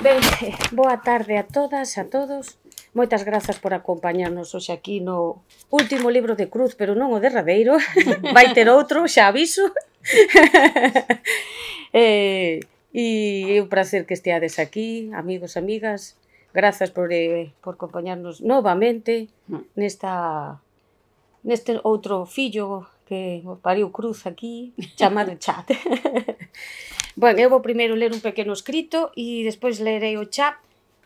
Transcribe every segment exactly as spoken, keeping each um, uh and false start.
Ben, boa tarde a todas, a todos. Moitas grazas por acompañarnos hoxe aquí no último libro de Cruz, pero non o derradeiro. Vai ter outro, xa aviso. eh, e é un placer que esteades aquí, amigos, amigas. Grazas por, eh, por acompañarnos novamente nesta neste outro fillo que pariu Cruz aquí, chamado chat. Bueno, eu vou primeiro ler un pequeno escrito e despois lerei o chat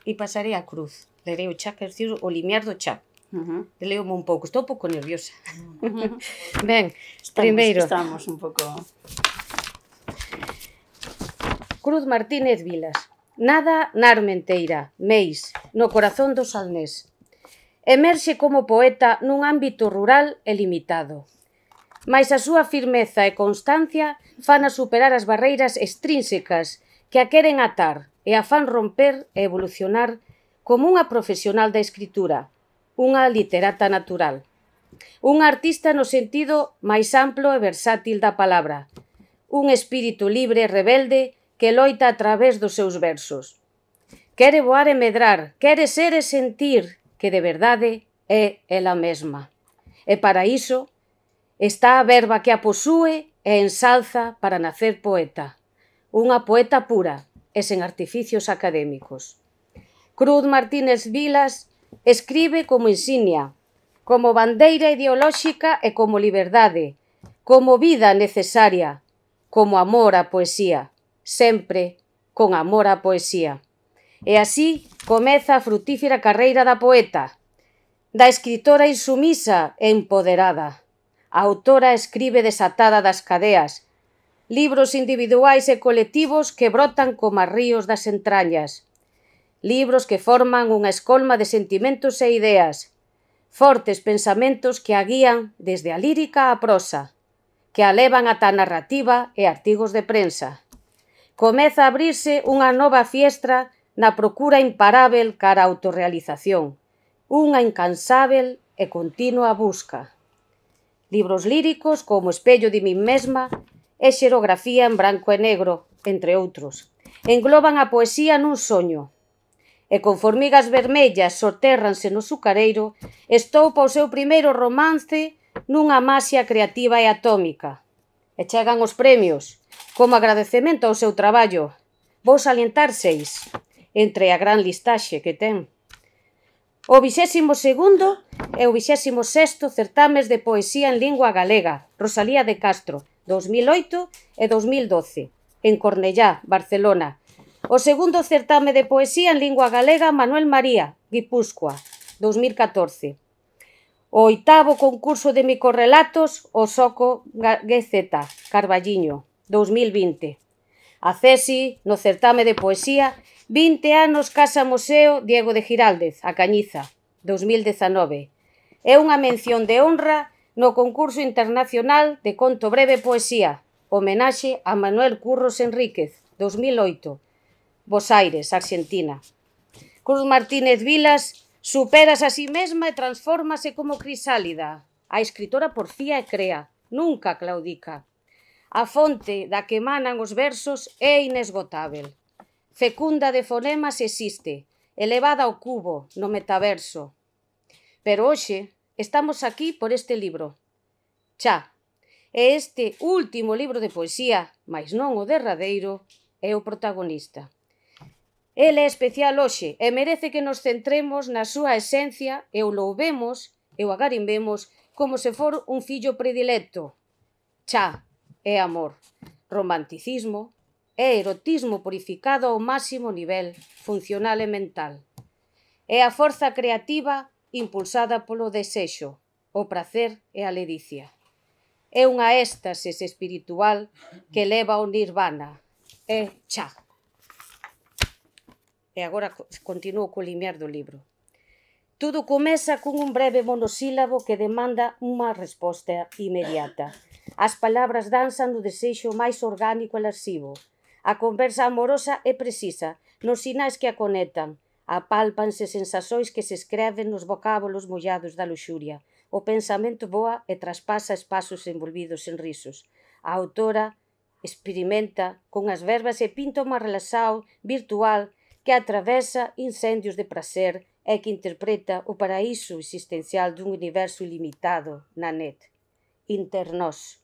e pasarei a Cruz. Lerei o chat, quer dizer, o limiar do chat. Uh -huh. Leo-me un pouco, estou un pouco nerviosa. Uh -huh. Ben, estamos, primeiro... Estamos un pouco... Cruz Martínez Vilas. Nada na Armenteira, Meis, no corazón do Salnés. Emerxe como poeta nun ámbito rural e limitado. Mais a súa firmeza e constancia fan a superar as barreiras extrínsecas que a queren atar e a fan romper e evolucionar como unha profesional da escritura, unha literata natural. Unha artista no sentido máis amplo e versátil da palabra, un espírito libre e rebelde que loita a través dos seus versos. Quere voar e medrar, quere ser e sentir que de verdade é ela mesma. E para iso está a verba que a posúe e ensalza para nacer poeta. Unha poeta pura e sen artificios académicos. Cruz Martínez Vilas escribe como insignia, como bandeira ideolóxica e como liberdade, como vida necesaria, como amor á poesía, sempre con amor á poesía. E así comeza a frutífera carreira da poeta, da escritora insumisa e empoderada. A autora escribe desatada das cadeas, libros individuais e colectivos que brotan como ríos das entrañas, libros que forman unha escolma de sentimentos e ideas, fortes pensamentos que a guían desde a lírica á prosa, que a levan ata a narrativa e artigos de prensa. Comeza a abrirse unha nova fiestra na procura imparável cara a autorrealización, unha incansável e continua busca. Libros líricos como Espello de min mesma e Xerografía en branco e negro, entre outros, engloban a poesía nun soño. E con Formigas vermellas sotérranse no sucareiro, estoupa o seu primeiro romance nunha maxia creativa e atómica. E chegan os premios, como agradecemento ao seu traballo. Vou salientar seis, entre a gran listaxe que ten. O vixésimo segundo e o vixésimo sexto certames de poesía en lingua galega, Rosalía de Castro, dos mil oito e dos mil doce, en Cornellá, Barcelona. O segundo certame de poesía en lingua galega, Manuel María, Guipúzcoa, dos mil catorce. O oitavo concurso de microrrelatos, o Soco G Z, Carballiño, dos mil vinte. A Cesi, no certame de poesía, vinte anos Casa Museo Diego de Giraldez, a Cañiza, dos mil dezanove. É unha mención de honra no concurso internacional de conto breve poesía, homenaxe a Manuel Curros Enríquez, dos mil oito, Bos Aires, Argentina. Cruz Martínez Vilas superas a sí mesma e transfórmase como crisálida. A escritora porfía e crea, nunca claudica. A fonte da que emanan os versos é inesgotável. Fecunda de fonemas existe, elevada ao cubo, no metaverso. Pero hoxe estamos aquí por este libro. Xa, e este último libro de poesía, mais non o derradeiro, é o protagonista. Ele é especial hoxe e merece que nos centremos na súa esencia e o louvemos e o agarimbemos como se for un fillo predilecto. Xa, é amor, romanticismo, é erotismo purificado ao máximo nivel funcional e mental. É a forza creativa impulsada polo desexo, o prazer e a ledicia. É unha éxtasis espiritual que leva ao nirvana. É xa. E agora continuo co limiar do libro. Tudo comeza cun un breve monosílabo que demanda unha resposta inmediata. As palabras danzan no desexo máis orgánico e lascivo. A conversa amorosa é precisa, nos sinais que a conectan. Apálpanse sensações que se escreven nos vocábulos mollados da luxuria. O pensamento voa e traspasa espazos envolvidos en risos. A autora experimenta con as verbas e pinta unha relación virtual que atravesa incendios de prazer e que interpreta o paraíso existencial dun universo ilimitado na net. Internós.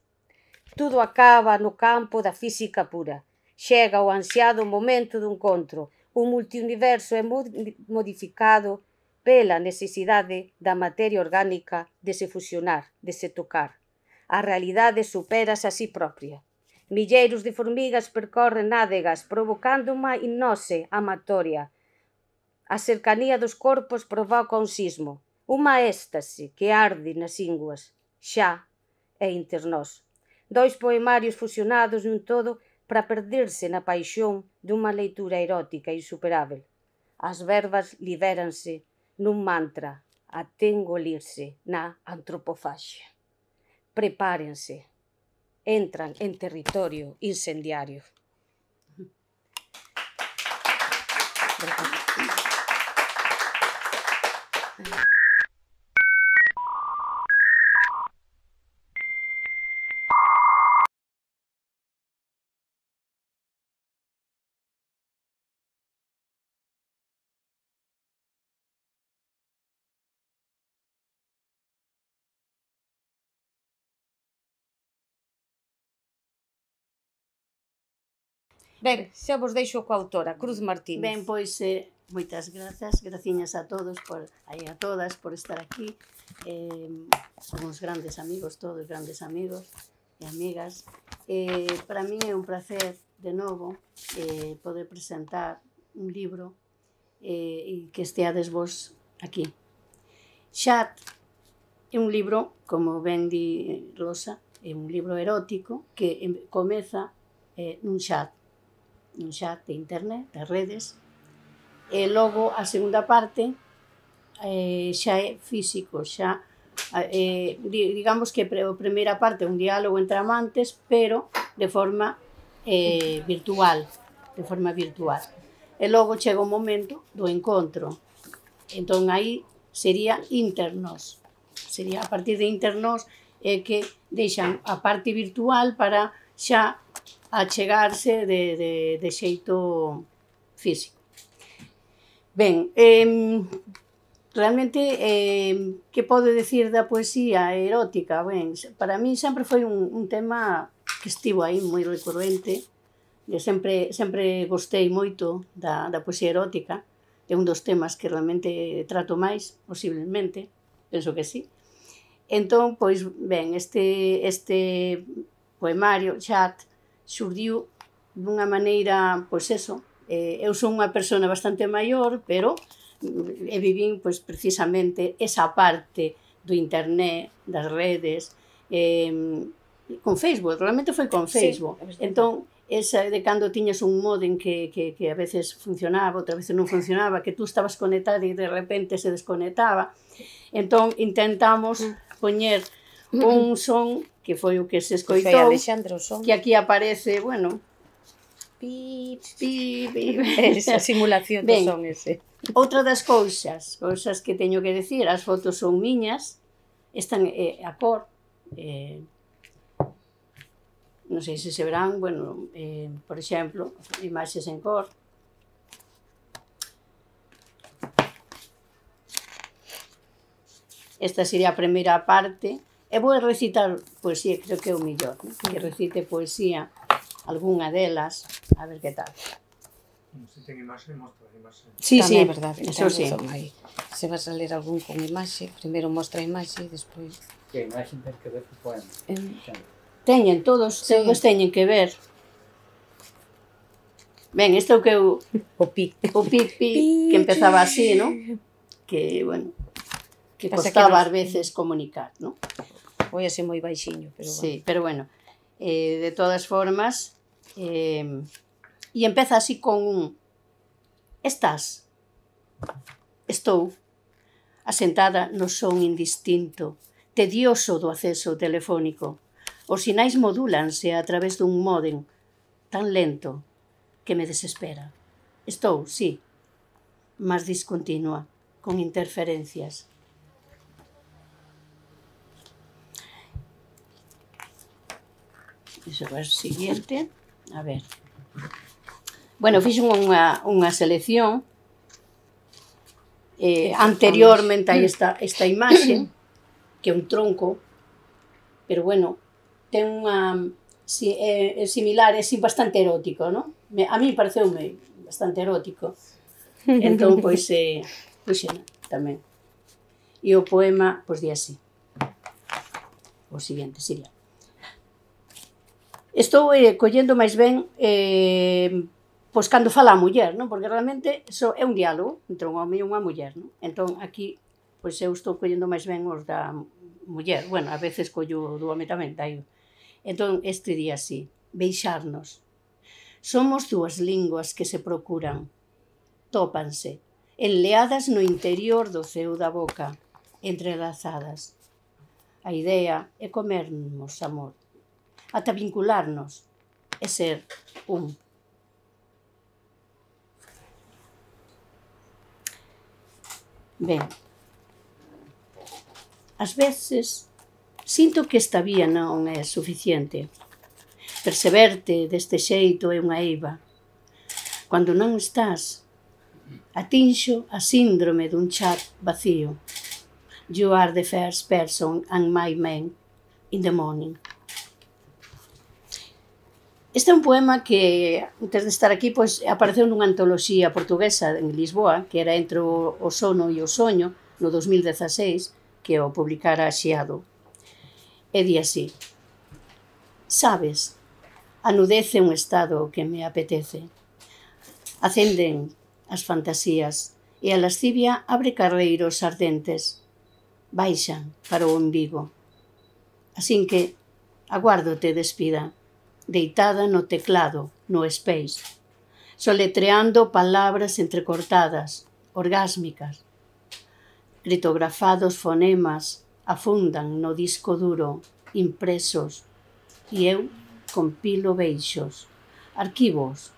Tudo acaba no campo da física pura. Chega o ansiado momento do encontro. O multiuniverso é modificado pela necesidade da materia orgánica de se fusionar, de se tocar. A realidade supérase a si propia. Milleiros de formigas percorren nádegas, provocando unha hipnose amatoria. A cercanía dos corpos provoca un sismo, unha éxtase que arde nas ínguas. Xa e Internós. Dois poemarios fusionados nun todo para perderse na paixón dunha leitura erótica insuperável. As verbas libéranse nun mantra até engolirse na antropofaxia. Prepárense. Entran en territorio incendiario. Ben, xa vos deixo coa autora, Cruz Martínez. Ben, pois, eh, moitas grazas, graciñas a todos, por, aí a todas, por estar aquí. Eh, son uns grandes amigos, todos grandes amigos e amigas. Eh, para mí é un placer, de novo, eh, poder presentar un libro eh, e que esteades vos aquí. Chat é un libro, como ben di Rosa, é un libro erótico que comeza eh, nun chat. un chat de internet, das redes, e logo a segunda parte eh, xa é físico, xa eh, digamos que a primeira parte é un diálogo entre amantes, pero de forma eh, virtual, de forma virtual. E logo chega o momento do encontro. Entón aí sería Internós. Sería a partir de Internós é que deixan a parte virtual para xa achegarse de, de, de xeito físico. Ben, eh, realmente, eh, que podo decir da poesía erótica? Ben, para mí sempre foi un, un tema que estivo aí moi recurrente. Eu sempre, sempre gostei moito da, da poesía erótica. É un dos temas que realmente trato máis, posiblemente, penso que sí. Entón, pois, ben, este, este poemario, Chat, xurdiu dunha maneira, pois eso, eh, eu son unha persona bastante maior, pero e vivín, pois, precisamente esa parte do internet, das redes, eh, con Facebook, realmente foi con Facebook. Sí, entón, esa de cando tiñas un modem que, que, que a veces funcionaba, outra veces non funcionaba, que tú estabas conectado e de repente se desconectaba. Entón, intentamos poñer un son que foi o que se escoitou, que aquí aparece, bueno, pi, pi, pi, esa simulación do son ese. Outra das cousas, cousas que teño que decir, as fotos son miñas, están eh, a cor, eh, non sei se se verán, bueno, eh, por exemplo, imaxes en cor. Esta sería a primeira parte. E vou recitar poesía, creo que é o mellor, ¿no? Que recite poesía, algunha delas, a ver que tal. Se ten imaxe, mostra a imaxe. Sí, sí, é verdade, eso sí. Se vas a ler algún con imaxe, primeiro mostra a imaxe e despois... Que a imaxe ten que ver co poema. Teñen, todos, todos teñen que ver. Ben, isto é o que eu... O pi. O pi, pi, que empezaba así, ¿no? Que, bueno, que costaba ás veces comunicar, ¿no? Foi así moi baixiño, pero bueno. Sí, pero bueno, eh, de todas formas, eh, e empeza así con un estás, estou, asentada no son indistinto, tedioso do acceso telefónico. Os sinais modúlanse a través dun módem tan lento que me desespera. Estou, sí, mas discontinua, con interferencias. Iso é o siguiente. A ver. Bueno, fixen unha, unha selección eh, anteriormente a esta, esta imaxe, que é un tronco, pero bueno, ten unha... Si, é, é similar, é bastante erótico, non? Me, a mí pareceume bastante erótico. Entón, pois, eh, pois, xena, tamén. E o poema, pois, di así. O seguinte, sería. Estou eh, collendo máis ben eh, pois cando fala a muller, non? Porque realmente so, é un diálogo entre un home e unha muller, non? Entón, aquí, pois eu estou collendo máis ben os da muller. Bueno, a veces collo do home tamén, daí. Entón, este día así, beixarnos. Somos dúas linguas que se procuran, tópanse, enleadas no interior do ceo da boca, entrelazadas. A idea é comernos amor, ata vincularnos e ser un. Ben, ás veces sinto que esta vía non é suficiente. Perseverte deste xeito é unha eiva. Cando non estás, atinxo a síndrome dun chat vacío. You are the first person and my man in the morning. Este é un poema que, antes de estar aquí, pois, apareceu nunha antoloxía portuguesa en Lisboa, que era Entre o sono e o soño, no dos mil dezaseis, que o publicara Xiado. E di así: sabes, a nudez é un estado que me apetece. Acenden as fantasías e a lascivia abre carreiros ardentes. Baixan para o umbigo. Así que aguardo te despida, deitada no teclado, no space, soletreando palabras entrecortadas, orgásmicas. Criptografados fonemas afundan no disco duro, impresos, e eu compilo beixos, arquivos,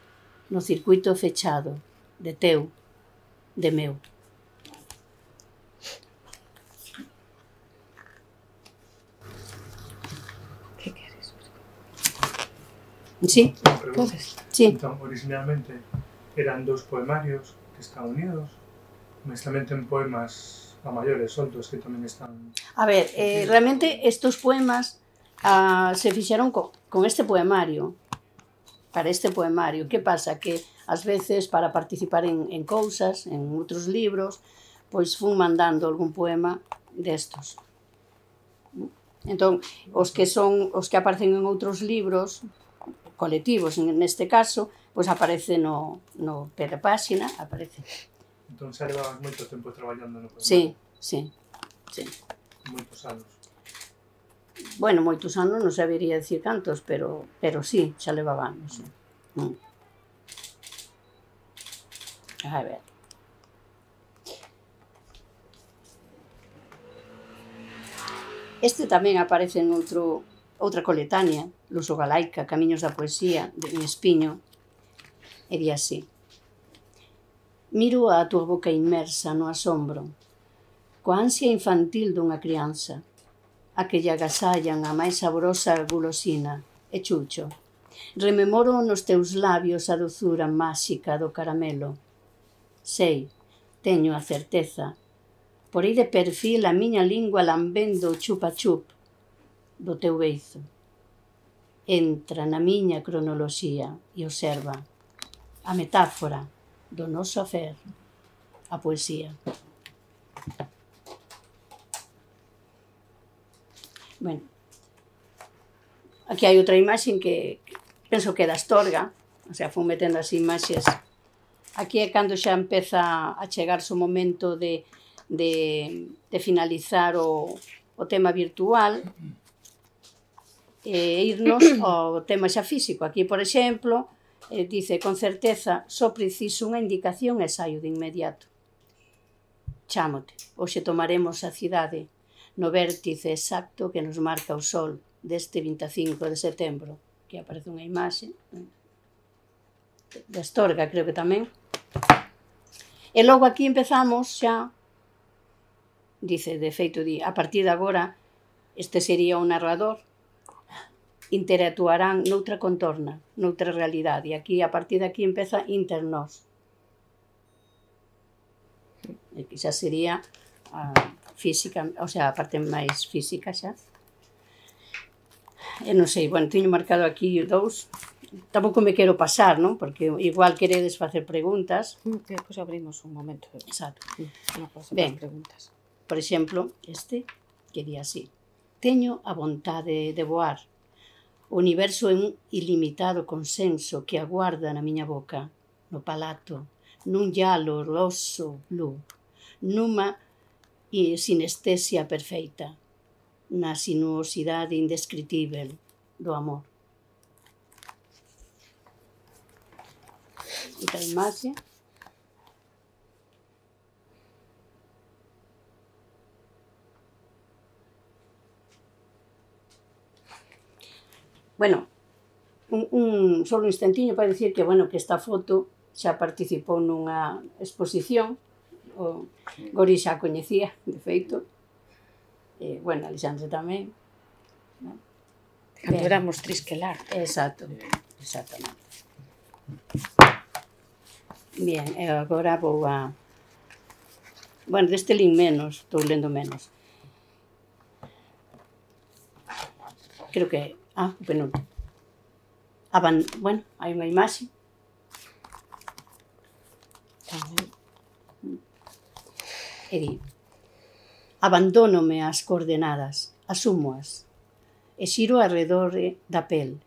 no circuito fechado, de teu, de meu. Que queres? Sí, Podes. sí. Entón, originalmente eran dous poemarios que están unidos, mas tamén ten poemas a maiores soltos que tamén están... A ver, eh, realmente estos poemas ah, se fixeron co, con este poemario, para este poemario. Que pasa? Que ás veces para participar en, en cousas, en outros libros, pois fun mandando algún poema destos. Entón, os que son os que aparecen en outros libros colectivos, neste caso, pois aparece no, no pé da páxina, aparece. Entón, xa levabas moito tempo traballando no poemario? Sí, sí, sí. Moitos anos. Bueno, moitos anos, non sabería dicir cantos, pero, pero sí, xa levaba anos. Sí. Mm. A ver. Este tamén aparece en outro, outra coletánea, Luso Galaica, Camiños da Poesía, de Espiño, e di así: miro a tua boca inmersa no asombro, coa ansia infantil dunha crianza, a que lle agasallan a máis saborosa gulosina, e chucho. Rememoro nos teus labios a dozura máxica do caramelo. Sei, teño a certeza, por aí de perfil a miña lingua lambendo o chupa-chup do teu beizo. Entra na miña cronoloxía e observa a metáfora do noso afer, a poesía. Bueno, aquí hai outra imaxe que, que penso que é da Astorga, o sea, fun metendo as imaxes. Aquí é cando xa empeza a chegarse o momento de, de, de finalizar o, o tema virtual e irnos ao tema xa físico. Aquí, por exemplo, eh, dice, con certeza, só preciso unha indicación e saio de inmediato. Chámote, hoxe tomaremos a cidade no vértice exacto que nos marca o sol deste vinte e cinco de setembro, que aparece unha imaxe de Astorga, creo que tamén. E logo aquí empezamos xa, dice, de feito, di, a partir de agora, este sería o narrador, interactuarán noutra contorna, noutra realidade. E aquí, a partir de aquí, empeza internos. E que xa sería a física, o sea, a parte máis física xa. E non sei, bueno, teño marcado aquí dous. Tampouco me quero pasar, non? Porque igual queredes facer preguntas. Depois abrimos un momento. Exacto. Ben, preguntas. Por exemplo, este, que di así. Teño a vontade de voar. O universo é un ilimitado consenso que aguarda na miña boca, no palato, nun llalo roso blue, nunha sinestesia perfeita, na sinuosidade indescritível do amor. Outra imaxe. Bueno, un, un solo instantiño para dicir que, bueno, que esta foto xa participou nunha exposición, o Gori xa coñecía, de feito, e, bueno, Alexandre tamén. Cando éramos Trisquelar. Exacto, exactamente. Bien, e agora vou a... Bueno, deste lin menos, estou lendo menos. Creo que... Ah, o penúltimo. Aban... Bueno, hai unha imaxe. E di, abandónome ás coordenadas, asúmoas, e xiro arredor da pel.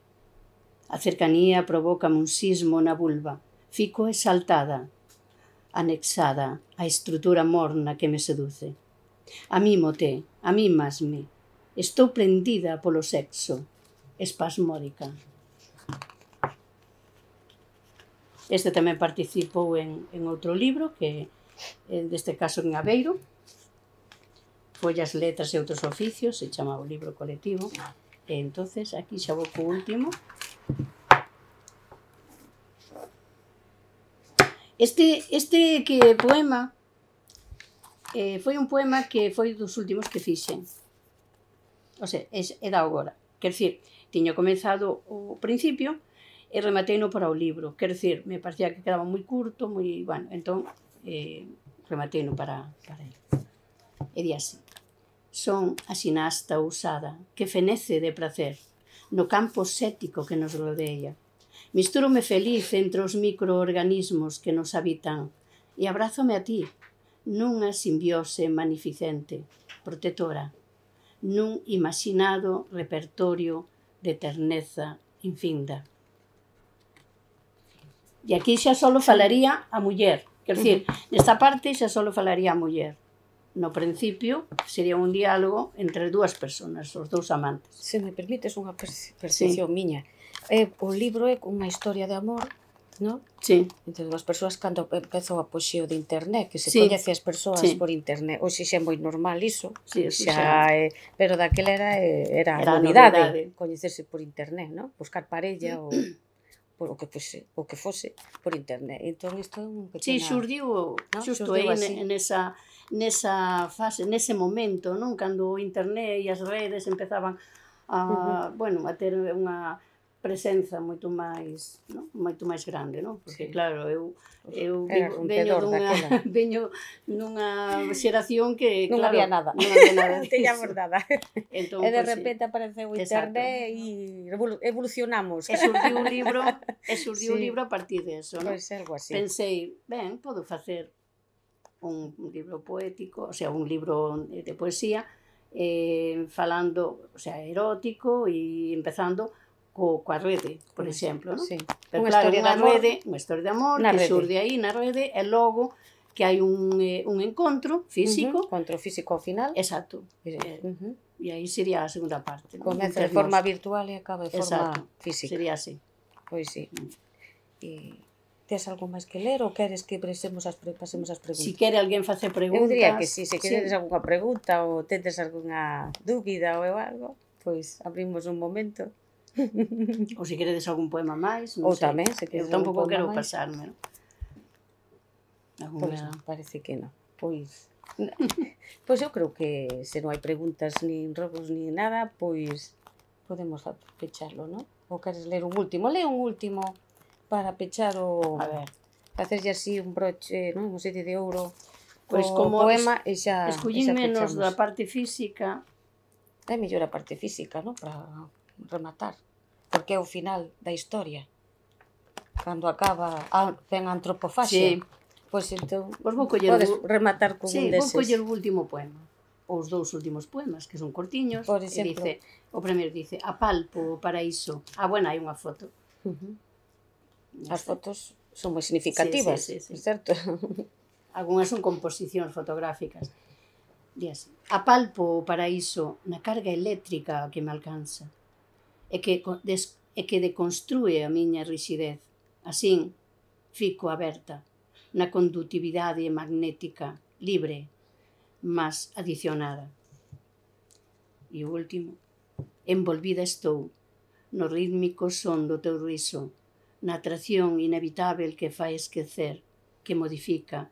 A cercanía provócame un sismo na vulva, fico exaltada, anexada á estrutura morna que me seduce. Amímote, amímasme, estou prendida polo sexo, espasmódica. Este tamén participou en, en outro libro, que deste caso en Aveiro, Follas, letras e outros oficios, se chama o libro colectivo. E entonces aquí xa vou co último. Este, este que poema eh, foi un poema que foi dos últimos que fixen. O sea, é, é da agora. Quer dicir, tiño comenzado o principio e rematei no para o libro. Quer dicir, me parecía que quedaba moi curto, moi... Bueno, entón, eh, rematei no para, para ele. E di así. Son a xinasta ousada que fenece de prazer no campo cético que nos rodea. Mistúrome feliz entre os microorganismos que nos habitan e abrázome a ti nunha simbiose magnificente, protectora, nun imaginado repertorio de terneza infinda. E aquí xa só falaría a muller, quer dicir, nesta parte xa só falaría a muller. No principio sería un diálogo entre dúas persoas, os dous amantes. Se me permites unha percepción miña, eh, o libro é unha historia de amor, non? Sí. Entre dúas persoas cando empezou a poxeo de internet, que se sí. coñece as persoas sí. por internet. Hoxe xa é moi normal iso, sí, xa, é, pero daquela era, era, era novidade, novidade coñecerse por internet, non? Buscar parella ou por o que fose, o que fose por internet. Entón isto é un pequena... Sí, xurdiu, ¿no? xusto aí nesa nesa fase, nese momento, non? Cando o internet e as redes empezaban a, uh-huh. bueno, a ter unha presenza moito máis, non? Moito máis grande, non? Porque sí. claro, eu eu veño dunha veño nunha xeración que non claro, había nada. Non había nada. Non teñamos nada. Entón, e de pues, repente sí. apareceu o internet e evolucionamos. E surdiu un libro, e surdiu un sí. libro a partir de eso, non? Pois algo así. Pensei, ben, podo facer un libro poético, o sea, un libro de poesía, eh, falando, o sea, erótico e empezando co, coa rede, por exemplo, non? Sí. Pero unha claro, historia unha de rede, unha historia de amor que rede. Surde aí na rede e logo que hai un, eh, un encontro físico. Uh-huh. Encontro físico ao final. Exacto. Uh-huh. E aí sería a segunda parte. Comeza de forma virtual e acaba de forma Exacto. física. Sería así. Pois sí. E tes algo máis que ler ou queres que pasemos as, pasemos as preguntas? Si quere alguén facer preguntas... Eu diría que si, se queredes sí. algunha pregunta ou tedes algunha dúbida ou algo, pois abrimos un momento. Ou se queredes algún poema máis, non ou sei. tamén, se queredes eu tampouco quero máis. pasarme, non? Alguna... Pois non, parece que non. Pois... pois eu creo que se non hai preguntas nin robos nin nada, pois podemos pecharlo, non? Ou queres ler un último? Lee un último para pechar o... A ver. Facerlle así un broche, non? Un sitio de ouro. Pois O como poema e xa... escollín e xa menos pechamos. da parte física, É mellor a parte física, non? Para rematar. Porque é o final da historia. Cando acaba a, ten a antropofaxia. Sí. Pois entón, Pois vou coller podes un- rematar con sí, un vou deses. coller o último poema. Os dous últimos poemas, que son cortiños. Por E exemplo. dice, o primeiro dice, apalpo o paraíso. Ah, bueno, hai unha foto. Uh-huh. Ya As está. fotos son moi significativas, Sí, sí, sí, sí. certo? Algúnas son composicións fotográficas. Di así, apalpo o paraíso na carga eléctrica que me alcanza e que, co- des, e que deconstrúe a miña rixidez. Asín, fico aberta na condutividade magnética libre, mas adicionada. E o último, envolvida estou no rítmico son do teu riso, na atracción inevitável que fai esquecer, que modifica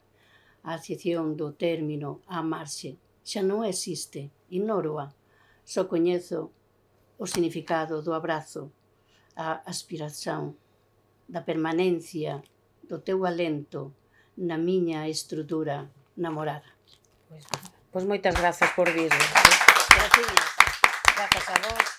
a acepción do término á marxe. Xa non existe, ignoroa, só coñezo o significado do abrazo, a aspiración da permanencia do teu alento na miña estrutura namorada. Pois, pois moitas grazas por vir. Gracias. Grazas a vos.